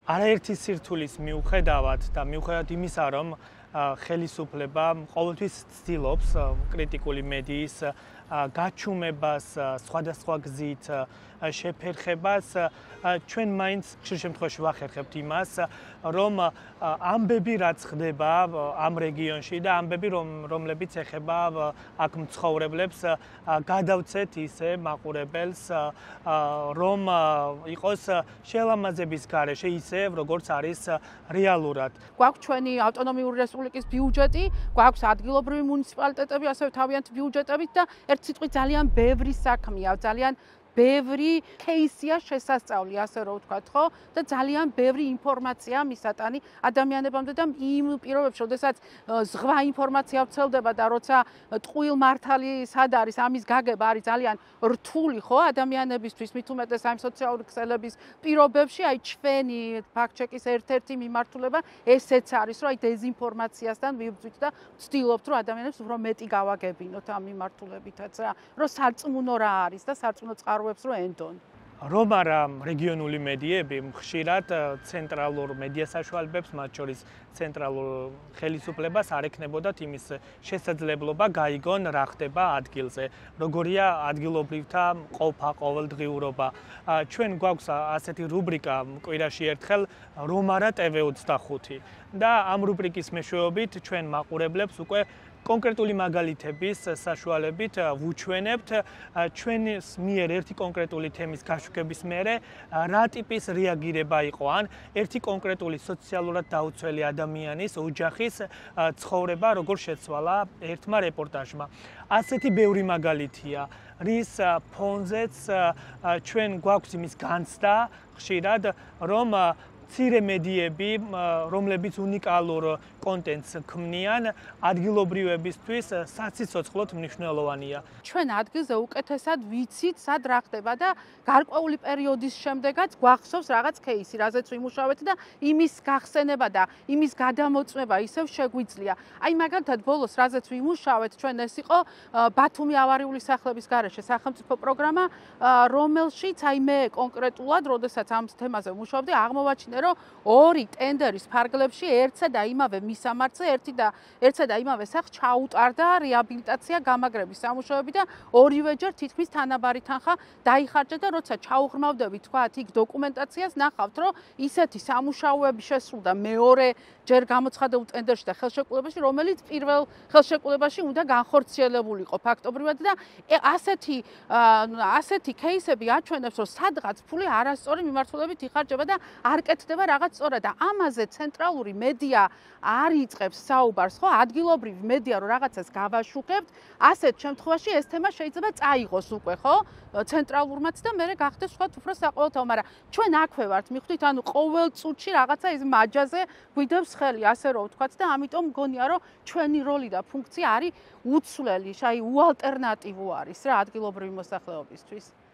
არაერთი სირთულის მიუხედავად და მიუხედავად იმისა, რომ ხელისუფლება ყოველთვის ცდილობს კრიტიკული მედიის გაჩუმებას, სხვადასხვა გზით შეფერხებას, ჩვენ მაინც ხშირ შემთხვევაში ვახერხებთ იმას, რომ ამბები რაც ხდება ამ რეგიონში და ამბები რომლებიც ეხება აქ მცხოვრებლებს, გადავცეთ ისე მაყურებელს, რომ იყოს შელამაზების გარეშე ისე, როგორც არის რეალურად. გვაქვს ჩვენი ავტონომიური რესპუბლიკის ბიუჯეტი, გვაქვს ადგილობრივი მუნიციპალიტეტები, ასევე თავიანთი ბიუჯეტებით და ერთ სიტყვით ძალიან ბევრი საქმეა, ძალიან ბევრი кейსია შესასწავლი, ასე რომ ვთქვათ, ხო? და ძალიან ბევრი ინფორმაცია მისატანი ადამიანებამდე და იმ პირობებში, როდესაც ზღვა ინფორმაცია ვრცელდება და როცა ტყუილ მართალი სად არის, ამის გაგება არის ძალიან რთული, ხო, ადამიანებისთვის, მით უმეტეს აი სოციალური ქსელების პირობებში, აი ჩვენი ფაქტ-ჩეკის ერთ-ერთი მიმართულება ესეც არის, რომ აი დეზინფორმაციასთან ვიბრძვით და ვცდილობთ, რომ ადამიანებს უფრო მეტი გავაგებინოთ ამ მიმართულებითაც რა, რომ სარწმუნო რა არის და სარწმუნო წყაროებს რო ენდონ. რომ არა რეგიონული მედიები ხშირად ცენტრალურ მედია საშუალებებს, მათ შორის ცენტრალურ ხელისუფლებას არ ექნებოდათ იმის შესაძლებლობა გაიგონ რა ხდება ადგილზე, როგორია ადგილობრივთა ყოფა, ყოველდღიურობა. ჩვენ გვაქვს ასეთი რუბრიკა კვირაში ერთხელ რომ არა TV25 და ამ რუბრიკის მეშვეობით ჩვენ მაყურებლებს უკვე კონკრეტული მაგალითების საშუალებით ვუჩვენებთ ჩვენს მიერ ერთი კონკრეტული თემის გაშუქების მერე რა ტიპის რეაგირება იყო ან ერთი კონკრეტული სოციალურად დაუცველი ადამიანის ოჯახის ცხოვრება როგორ შეცვალა ერთმა რეპორტაჟმა. ასეთი ბევრი მაგალითია, რის ფონზეც ჩვენ გვაქვს იმის განცდა ხშირად, რომ მცირე მედიები, რომლებიც უნიკალურ კონტენტს ქმნიან, ადგილობრივებისთვის საციცოცხლოდ მნიშვნელოვანია. ჩვენ ადგილზე უკეთესად ვიცით, სად რა ხდება და გარკვეული პერიოდის შემდეგაც გვახსოვს რაღაც кейსი, რაზეც ვიმუშავეთ და იმის გახსენება და იმის გადამოწმება ისევ შეგვიძლია. აი მაგალითად ბოლოს რაზეც ვიმუშავეთ, ჩვენ ეს იყო ბათუმი ავარიული სახლების გარეშე სახელმწიფო პროგრამა, რომელშიც აი მე კონკრეტულად, როდესაც ამ თემაზე ვმუშაობდი, აღმოვაჩინე რომ ორი ტენდერის ფარგლებში ერთსა და იმავე მისამართზე ერთსა და იმავე სახლს ჩაუტარდა რეაბილიტაცია გამაგრების სამუშაოები და ორივეჯერ თითქმის თანაბარი თანხა დაიხარჯა და როცა ჩაუღრმავდებით თქვათ იქ დოკუმენტაციას ნახავთ რომ ისეთი სამუშაოები შესრულდა მეორე ჯერ გამოცხადებულ ტენდერში და ხელშეკრულებაში, რომელიც პირველ ხელშეკრულებაში უნდა განხორციელებულიყო ფაქტობრივად და ასეთი кейსები აჩვენებს, რომ სადღაც ფული არასწორი მიმართულებით იხარჯება და არ კეთდება რაღაც სწორად და ამაზე ცენტრალური მედია არ იწყებს საუბარს, ხო, ადგილობრივი მედია რომ რაღაცას გავაშუქებთ, ასეთ შემთხვევაში ეს თემა შეიძლება წაიღოს უკვე, ხო, ცენტრალურმაც და მერე გახდეს ვთქვათ უფრო საყოველთაო, მაგრამ ჩვენ აქვე ვართ, მიხვდით, ანუ ყოველ წუთში რაღაცა ის მაჯაზე გვიდევს ხელი, ასე რომ ვთქვათ და ამიტომ მგონია, რომ ჩვენი როლი და ფუნქცია არის უცვლელი, აი უალტერნატივო არის რა ადგილობრივი მოსახლეობისთვის.